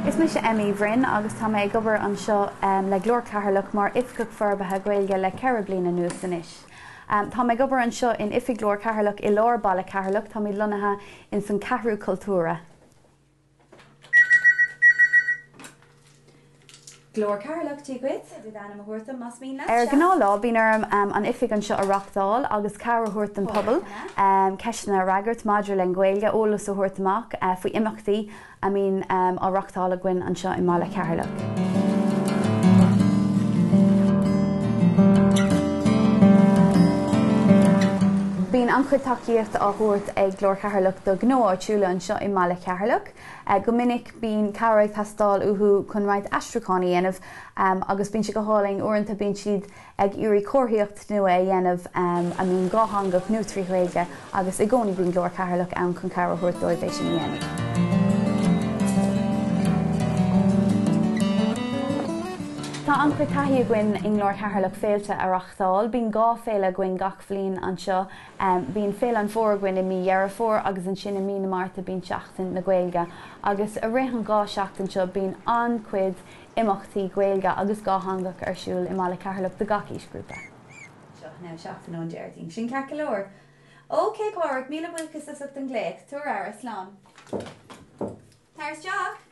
Is mise Emmy Uí Bhroin agus tá mé ag obair anseo le Glór Cheatharlach mar Oifigeach Forbartha Gaeilge le 4 bliana anuas anois. Tá mé ag obair anseo in Oifig Ghlór Cheatharlach i lár baile Cheatharlach, táimid lonnaithe ins an Ceathrú Cultúrtha. Glór Cheatharlach, Dia dhuit. Féidir d'ainm a thabhairt dom más mian leat. Ar ghnáthlá, bíonn orm an oifig anseo a reachtáil agus cabhair a thabhairt don pobal, ceisteanna a fhreagairt maidir le Gaeilge, eolas a thabhairt amach faoi imeachtaí a mbíonn á reachtáil againn anseo i mbaile Cheatharlach. Bíonn an-chuid tacaíocht á thabhairt ag Glór Cheatharlach do ghnó áitiúla anseo i mbaile Cheatharlach. Go minic bíonn cabhair ag teastáil uathu chun roinnt aistriúcháin a dhéanamh agus bíonn sé go hálainn, uaireanta bíonn siad ag iarraidh comharthaíocht nua a dhéanamh a mbíonn dhátheangach nó trí Ghaeilge agus i gcónaí bíonn Glór Cheatharlach ann chun cabhair a thabhairt dóibh é sin a dhéanamh. Tá an-chuid taithí againn i nGlór Cheatharlach féilte a reachtáil. Bíonn 2 féile againn gach bhliain anseo. Bíonn Féile an Fómhair againn i mí Dheireadh Fómhair agus ansin i mí na Márta bíonn Seachtain na Gaeilge agus i rith an 2 seachtain seo bíonn an-chuid imeachtaí Gaeilge agus dhátheangach ar siúl i mbaile Cheatharlach do gach aoisghrúpa. Seo now seachtain ón Déardaoin. Sin ceart go leor. OK Pádraig, míle buíochas as ucht an glaoch. Tabhair aire, slán. Tar isteach!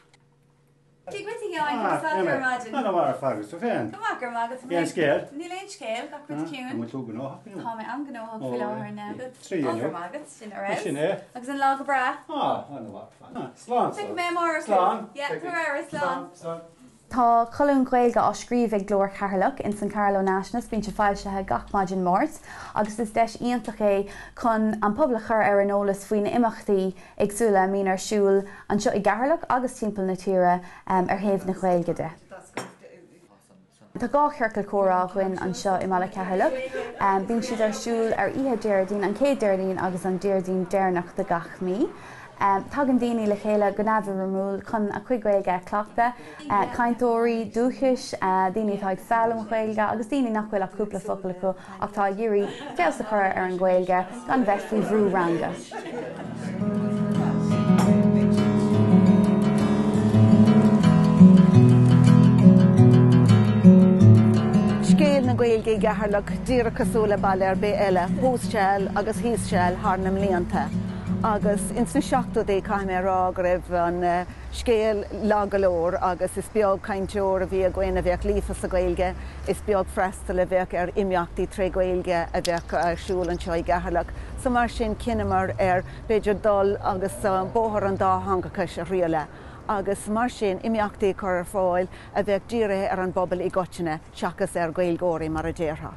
Dia dhuit a Sheáin, conas tá tú ar maidin? Ana mhaith ar fad agus tú féin? Go maith, go raibh maith agat. Cén scéal? Níl aon scéal, gach rud ciúin. An bhfuil tú gnóthach inniu? Tá mé an-ghnóthach faoi láthair now. Trí Ó, go inniu. raibh maith agat, sin ar fheabhas. Sin é. Agus an lá go breá? Ah, ana mhaith ar fad. Slán. Feicfidh mé amárach thú. Slán. Yeah, tabhair aire, slán. Slán. Tá colún Gaeilge á scríobh ag Glór Cheatharlach ins an Carlow Nationalist, bíonn sé foilsithe gach maidin Máirt agus is deis iontach é chun an pobal a chur ar an eolas faoi na imeachtaí éagsúla a mbíonn ar siúl anseo i gCeatharlach agus timpeall na tíre ar thaobh na Gaeilge de. Tá 2 chiorcal comhrá againn anseo i mbaile Cheatharlach. Bíonn siad ar siúl ar oíche Déardaoin, an chéad Déardaoin agus an Déardaoin deireanach de gach mí. Tagann daoine le chéile go neamhfhoirmiúil chun a cuid Gaeilge a chleachtadh, cainteoirí dúchais, daoine atá ag foghlaim Gaeilge agus daoine nach bhfuil ach cúpla focal acu ach tá ag iarraidh feabhas a chur ar an Ghaeilge gan bheith faoi bhrú ranga. Scéal na Gaeilge i gCeatharlach díreach cosúil le baile ar bith eile, thuas seal agus thíos seal thar na mblianta. Agus ins na seachtóidí caithfidh mé a rá go raibh an scéal lag go leor agus is beag cainteoir a bhí againn a bheadh líofa sa Ghaeilge, is beag freastal a bheadh ar imeachtaí tré Ghaeilge a bheadh ar siúl anseo i gCeatharlach. So mar sin chinneamar ar b'fhéidir dul agus bóthar an dátheangachais a thriaileadh agus mar sin imeachtaí a chur ar fáil a bheadh dírithe ar an bpobal i gcoitinne seachas ar Ghaeilgeoirí mar a déarfá.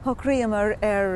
Shocraíomar ar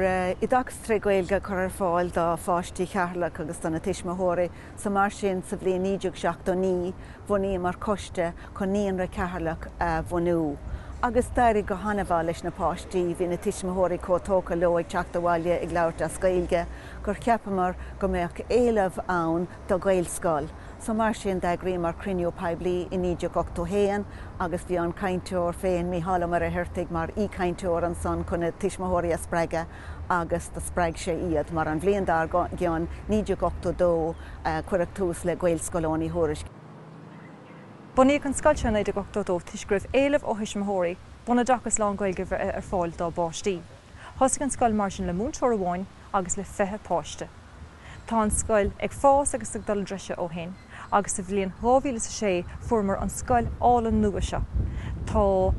oideachas tré Ghaeilge a chur ar fáil do pháistí Cheatharlach agus do na tuismitheoirí so mar sin sa bhliain 1979 bhunaíomar coiste chun Naíonra Cheatharlach a bhunú agus d'éirigh go han-mhaith leis na páistí, bhí na tuismitheoirí chomh tógtha leo ag teacht abhaile ag labhairt as Gaeilge gur cheapamar go mbeadh éileamh ann do Ghaelscoil. So mar sin d'eagraíomar cruinniú poiblí i 1981 agus bhí an cainteoir féin, Mícheál Ó Muircheartaigh, mar aoichainteoir ansan chun na tuismitheoirí a spreagadh agus do spreag sé iad mar an bhliain dár gcionn, 1982, cuireadh tús le Gaelscoil Eoin Uí Thuairisc. Bunaíodh an scoil seo i 1982 toisc go raibh éileamh ó thuismitheoirí bunoideachas lán-Ghaeilge a bheith ar fáil dá bpáistí. Thosaigh an scoil mar sin le múinteoir amháin agus le 20 páiste. Tá an scoil ag fás agus ag dul i dtreise ó shin agus sa bhliain 2006 fuaireamar an scoil álainn nua seo. Tá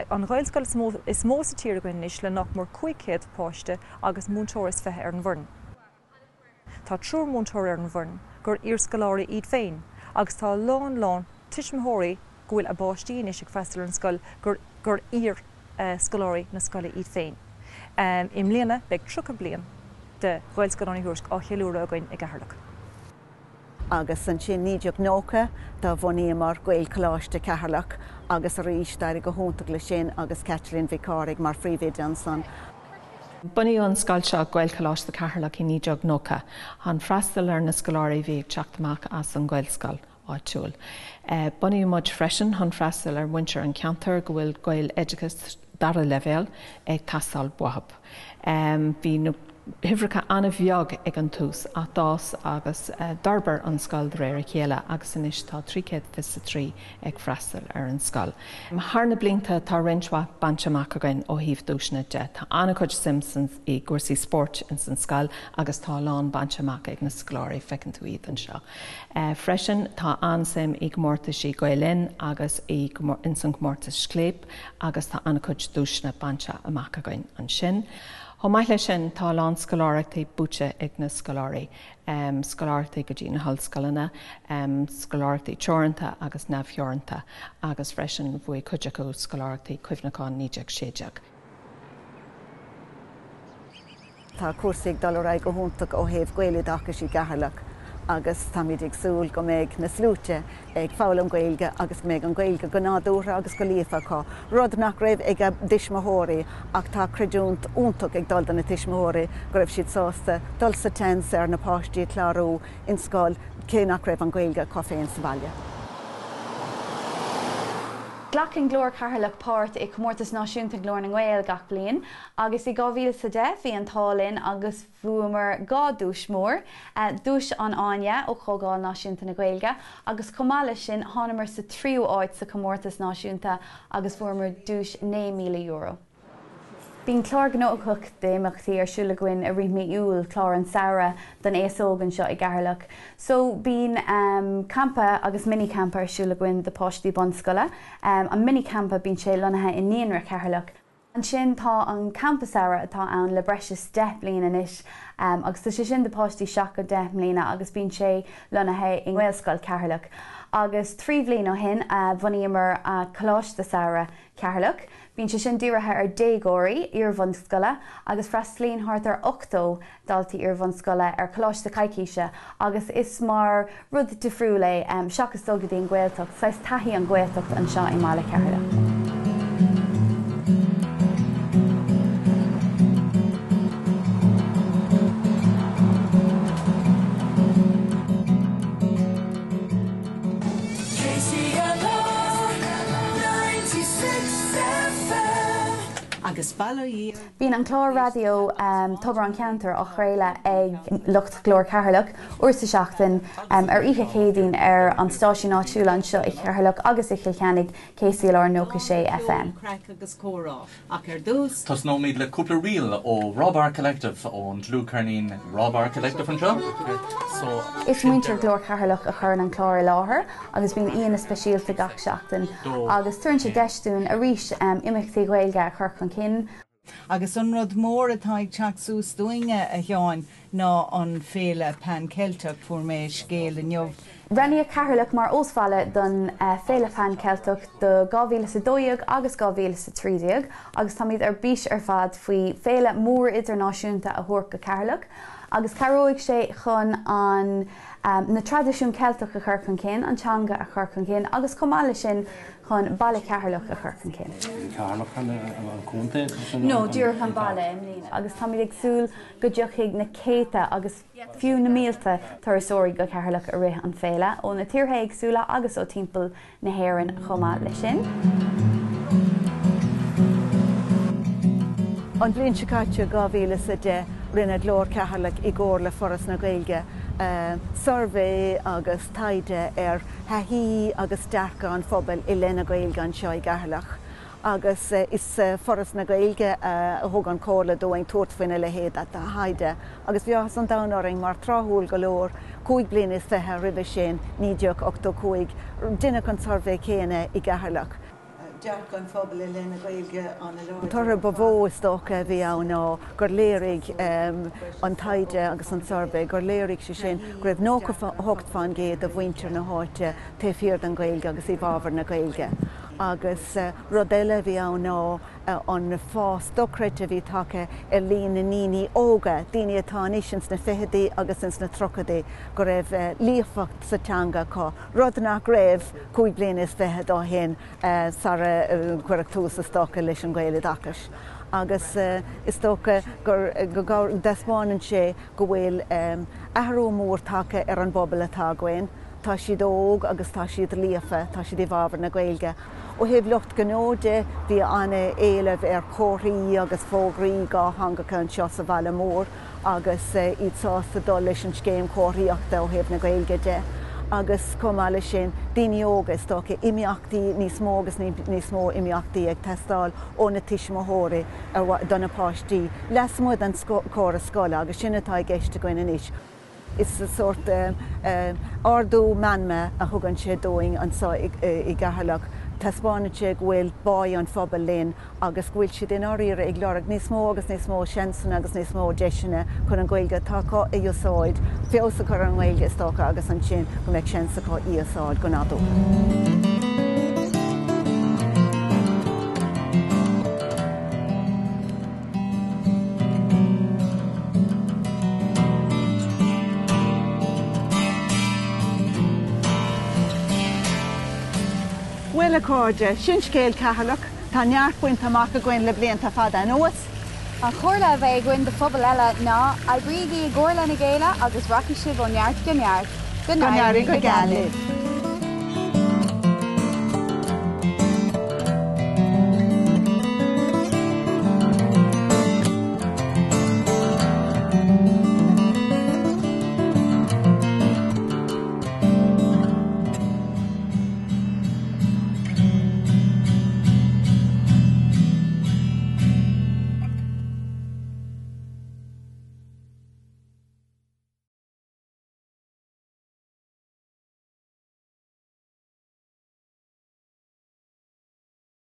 an Ghaelscoil is mó is mó sa tír againn anois le nach mór 500 páiste agus múinteoir is 20 ar an bhfoireann. Tá triúr múinteoir ar an bhfoireann gur iarscoláirí iad féin agus tá a lán lán tuismitheoirí go bhfuil a bpáistí anois ag freastal ar an scoil gur gur iar scoláirí na scoile iad féin. I mbliana beidh 30 bliain de Ghaelscoil Eoin Uí Thuairisc á cheiliúradh againn i gCeatharlach. Agus ansin 1990 do bhunaíomar Gaelcholáiste Cheatharlach agus arís d'éirigh go hiontach leis sin agus Caitlín Mhic Cárthaigh mar phríomhoide ansan. Bunaíodh an scoil seo, Gaelcholáiste Cheatharlach i 1990 chun freastal ar na scoláirí a bhí ag teacht amach as an Ghaelscoil áitiúil. Bunaíodh muid freisin chun freastal ar mhuintir an cheantair go bhfuil Gaeloideachas dara leibhéal ag teastáil uathu. Bhí na huimhreacha an-bheag ag an tús ach d'fhás agus d'fhorbair an scoil de réir a chéile agus anois tá 323 ag freastal ar an scoil. Thar na blianta tá roinnt mhaith bainte amach againn ó thaobh duaiseanna de. Tá an-chuid suim i gcúrsaí spóirt ins an scoil agus tá a lán bainte amach ag na scoláirí, feiceann tú iad anseo. Freisin tá an-suim i gcomórtaisí Gael Linn agus ins an gcomórtas Scléip agus tá an-chuid duaiseanna bainte amach againn ansin. Chomh maith leis sin tá a lán scoláireachtaí buaite ag na scoláirí, scoláireachtaí go dtí na hollscoileanna, scoláireachtaí teoranta agus neamhtheoranta agus freisin bhuaigh cuid acu scoláireachtaí Cuimhneacháin 1916. Tá cúrsaí ag dul ar aghaidh go hiontach ó thaobh Gaeloideachais i gCeatharlach agus táimid ag súil go mbeidh na sluaite ag foghlaim Gaeilge agus go mbeidh an Ghaeilge go nádúrtha agus go líofa acu, rud nach raibh ag a dtuismitheoirí ach tá creidiúint iontach ag dul do na tuismitheoirí go raibh siad sásta dul sa tseans ar na páistí a chlárú in scoil cé nach raibh an Ghaeilge acu féin sa bhaile. Glacann Glór Cheatharlach páirt i Comórtas Náisiúnta Ghlór na nGael gach bliain agus i 2010 bhí an t-ádh linn agus bhuamar 2 duais mór, Duais an Fháinne ó Chomhdháil Náisiúnta na Gaeilge agus chomh maith leis sin thánamar sa tríú áit sa chomórtas náisiúnta agus bhuamar duais €9,000. Bíonn clár gnóthach d'imeachtaí ar siúl againn i rith mí Iúil, clár an samhradh don aos óg anseo i gCeatharlach. So bíonn campa agus mini campa ar siúl againn do páistí bunscoile. An mini campa bíonn sé lonnaithe i Naíonra Cheatharlach. Ansin tá an campa samhraidh atá ann le breis is 10 bliain anois agus tá sé sin do páistí 7 go 10 mbliana agus bíonn sé lonnaithe i nGaelscoil Cheatharlach. Agus 3 bhliain ó shin bhunaíomar Coláiste Samhraidh Cheatharlach. Bíonn sé sin dírithe ar déagóirí iarbhunscoile agus freastalaíonn thart ar 80 daltaí iarbhunscoile ar choláiste coicíse agus is mar rud difriúil é seachas dul go dtí an Ghaeltacht, saghas taithí an Ghaeltacht anseo i mbaile Cheatharlach. Bíonn an clár raidió Tobar an Cheantair á chraoladh ag lucht Ghlór Cheatharlach uair sa seachtain ar oíche Chéadaoin ar an stáisiún áitiúil anseo i Cheatharlach agus i Chill Cheannaigh, KCLR 96 FM. Ach ar dtús. Tosnóimid le cúpla ríl ó Raw Bar Collective, ón dlúthcheirnín Raw Bar Collective anseo. So, Is muintir Ghlór Cheatharlach a chuireann an clár i láthair agus bíonn aíonna speisialta gach seachtain agus tugann sé deis dúinn arís imeachtaí Ghaeilge a chur chun cinn. Agus an rud mór atá ag teacht suas dúinne, a Sheáin, ná an Féile Pan Ceilteach. Fuair mé scéal inniu. Roghnaíodh Ceatharlach mar óstbhaile don Féile Phan Ceilteach do 2012 agus 2013 agus táimid ar bís ar fad faoi féile mór idirnáisiúnta a thabhairt go Ceatharlach agus cabhróidh sé chun an na traidisiún Ceilteach a chur chun cinn, an teanga a chur chun cinn agus chomh maith leis sin chun baile Cheatharlach a chur chun cinn. Ceatharlach an contae? No, díreach an baile i mbliana agus táimid ag súil go dtiocfaidh na céadta agus fiú na mílte turasóirí go Ceatharlach i rith an féile, ó na tíortha éagsúla agus ó timpeall na hÉireann chomh maith leis sin. An bhliain seo caite, 2010, rinne Glór Cheatharlach i gcomhar le Foras na Gaeilge suirbhé agus taighde ar thaithí agus dearcadh an phobail i leith na Gaeilge anseo i gCeatharlach. Agus is Foras na Gaeilge a thug an chomhairle dúinn tabhairt faoina leithéid de thaighde agus bhí áthas an domhain orainn mar tráthúil go leor, cúig bliana is fiche roimhe sin, 1985, deineadh an suirbhé céanna i gCeatharlach. Dearcadh an phobail i leith na Gaeilge an-láidir. An toradh ba mhó is dócha a bhí ann ná gur léirigh an taighde agus an suirbhé gur léirigh sé sin go raibh 98% de mhuintir na háite taobh thiar den Ghaeilge agus i bhfabhar na Gaeilge. Agus rud eile a bhí ann ná an fás dochreidte a bhí tagtha ar líon na ndaoine óga, daoine atá anois ins na fichidí agus ins na tríochaidí, go raibh líofacht sa teanga acu, rud nach raibh 25 bliana ó shin sara cuireadh tús is dócha leis an Ghaeloideachas. Agus is dócha gur go dtaispeánann sé go bhfuil athrú mór tagtha ar an bpobal atá againn. Tá siad óg agus tá siad líofa, tá siad i bhfabhar na Gaeilge. Ó thaobh lucht gnó de, bhí an-éileamh ar chomharthaí agus fógraí dhátheangacha anseo sa bhaile mór agus iad sásta dul leis an scéim chomharthaíochta ó thaobh na Gaeilge de. Agus chomh maith leis sin, daoine óga, is dócha, imeachtaí, níos mó agus níos mó imeachtaí ag teastáil ó na tuismitheoirí do na páistí lasmuigh den chóras scoile agus sin atá i gceist againn anois. Is sórt ardú meanma a thugann sé dúinn anseo i gCeatharlach. Taispeánann sé go bhfuil báidh an phobail linn agus go bhfuil siad i ndáiríre ag lorg níos mó agus níos mó seansanna agus níos mó deiseanna chun an Ghaeilge atá acu a úsáid, feabhas a chur ar an nGaeilge is dócha agus ansin go mbeadh seans acu í a úsáid go nádúrtha. Bhuel, a chairde, sin scéal Cheatharlach. Tá neart bainte amach againn le blianta fada anuas. An chomhairle a bheidh againn do phobail eile ná, oibrígí i gcomhar lena chéile agus rachaidh sibh ó neart go neart. Go n-éirí go geal libh!